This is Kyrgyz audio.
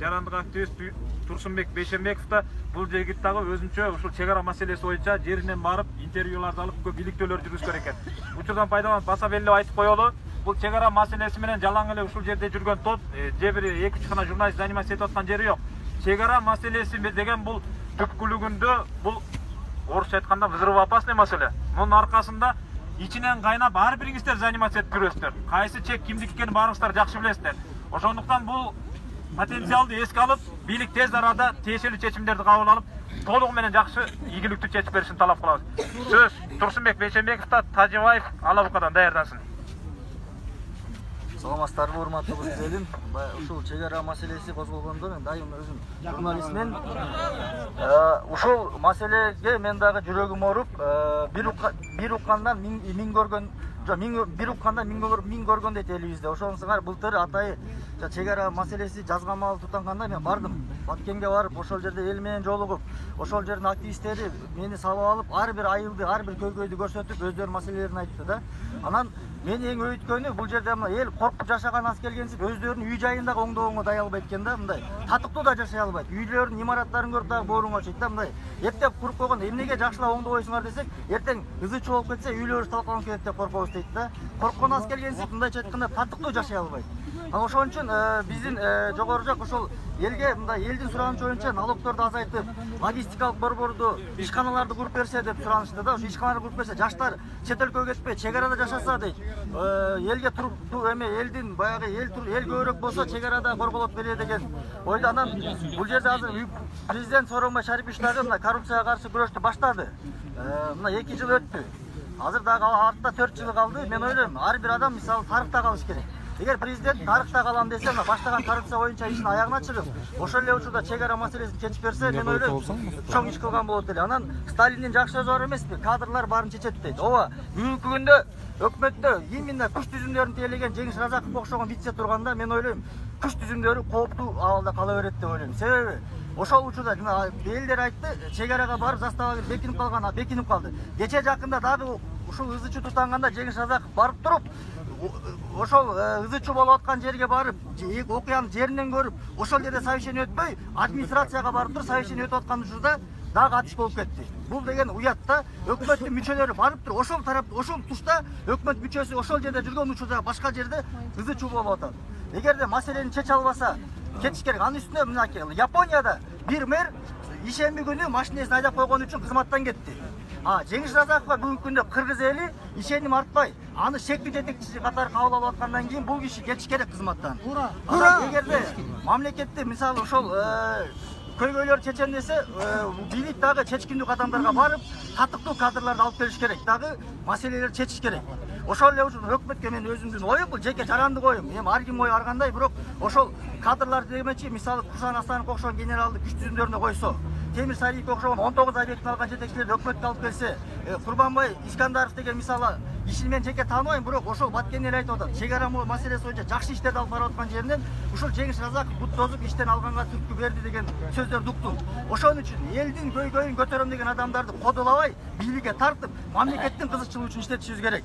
жарандык активист Турсунбек Бейшенбеков да бул жигит дагы өзүнчө ушул чек ара маселеси боюнча жеринен барып интервьюларды алып көп иликтөөлөр жүргүзгөн экен. Учурдан пайдаланып баса беле айтып коелу, бул чек ара маселеси менен жалаң эле ушул жерде жүргөн топ же бир 2-3 гана журналист заниматься этип аткан жери жок. Чек ара маселеси деген бул түпкүлүгүндө бул орусча айтканда взрывоопасный маселе. Мунун аркасында ичинен кайнап ар бириңиздер заниматься этип жүрөсүздөр. Кайсы чек кимдики экенин баарыңыздар жакшы билесиздер. Ошондуктан бул потенциалды эске алып, бийлик тез арада тиешелүү чечимдерди кабыл алып, толугу менен жакшы ийгиликтүү чечип беришин талап кылабыз. Сөз Турсунбек Бейшенбеков да Тажибаев Алабукадан даярдансын. Саламатсыздарбы, урматтуу кыз элим. Ушул чек ара маселеси козголгондо мен дайым өзүм журналистмен. Ушул маселеге мен дагы жүрөгүм ооруп, бир уккандан миң көргөн, бир укканда миң көргөн дейт элибизде. Ошонусуңар былтыр атайы чек ара маселеси жазгамал тутанганда мен бардым. Баткенге барып, ошол жерде эл менен жолугуп, ошол жердин активисттери мени салып алып, ар бир айылды, ар бир көйгөйдү көрсөтүп, өздөрүнүн маселелерин айтты да. Анан мени эң өйткөнү бул жерде эл коркуп жашаган аз келгенсип өздөрүнүн үй жайында оңдогонго дай албайт экен да, мындай. Татыктуу да жашай албайт. Үйлөрүнүн имараттарын көрүп дагы бооруң очойт да, мындай. Эптеп куруп койгон, эмнеге жакшылап оңдобойсуңар десек, эртең ызычуу болуп кетсе, үйлөрүбүз талкаланып кетет деп коркобуз дейт да. Корккон аз келгенсип мындайча айтканда татыктуу жашай албайт. Ошон үчүн биздин жогору жак ошол элге мындай элдин суранычы боюнча налогторду азайтып, логистикалык борборду, ишканаларды куруп берсе деп суранышты да. Ошо ишканаларды куруп берсе, жаштар чет өлкөгө кетпей, чек арада жашаса дейт. Элге элдин баягы эл көбүрөөк болсо чек арада корголот беле деген ойдо. Анан бул жерде азыр президент Сооронбай Шарипович дагы мына коррупцияга каршы күрөштү баштады. Мына 2 жыл өттү. Азыр дагы артта 4 жыл калды. Мен ойлойм, ар бир адам мисалы тарыхта калыш керек. Эгер президент тарыхта калам десе, мына баштаган коррупция боюнча ишин аягына чыгып, ошол эле учурда чек ара маселесин чечип берсе, мен ойлойм, чоң иш кылган болот эле. Анан Сталиндин жакшы сөзү бар эмеспи? Кадрлар баарын чечет дейт. Ооба, бүгүнкү күндө өкмөттө именно күч түзүмдөрүн тейлеген Жеңиш Разаковго окшогон вице турганда, мен ойлойм, күч түзүмдөрү кооптуу абалда кала берет деп ойлойм. Себеби ошол учурда элдер айтты, чек арага барып застава бекинип калды. Кече жакында дагы ушул ызычуу тутанганда Жеңиш Разаков барып туруп, ошол ызычуу болуп аткан жерге барып, окуянын жеринен көрүп, ошол жерде совещание өтпөй, администрацияга барып туруп совещание өтүп аткан учурда дагы атыш болуп кетти. Бул деген уят да. Өкмөттүн мүчөлөрү барып туруп, ошол тарап, ошол тушта өкмөт мүчөсү ошол жерде жүргөн учурда башка жерде ызычуу болуп атат. Эгерде маселени чече албаса, кетиш керек. Анын үстүнө мынакей Японияда бир мэр ишемби күнү машинесин айдап койгон үчүн кызматтан кетти. Жеңиш Разаковго бүгүнкү күндө кыргыз эли ишеним артпай, аны шектүү жетекчиси катары кабыл алып аткандан кийин бул киши кетиш керек кызматтан. Эгерде мамлекетте мисалы ошол көйгөйлөр чечем десе, бийлик дагы чечкиндүү кадамдарга барып, татыктуу кадрларды алып келиш керек, дагы маселелерди чечиш керек. Ошол эле үчүн өкмөткө мен өзүмдүн оюм, бул жеке жарандык оюм. Эми ар ким ою ар кандай, бирок ошол кадрларды демечи, мисалы Курсан Асановго окшогон генералды күч түзүмдөрүнө койсо, Темир Сариевге окшогон 19 объектин алган жетекчилерди өкмөткө алып келсе, Курбанбай Искандаров деген мисалы ишин мен жеке тааныбайм, бирок ошол Баткен эл айтып атат. Чек ара маселеси боюнча жакшы иштерди алып барып аткан жеринен ушул Жеңиш Разаков бут тозуп иштен алганга түрткү берди деген сөздөрдү уктум. Ошон үчүн элдин көйгөйүн көтөрөм деген адамдарды кодолобой, бийликке тартып, мамлекеттин кызыкчылыгы үчүн иштетишибиз керек.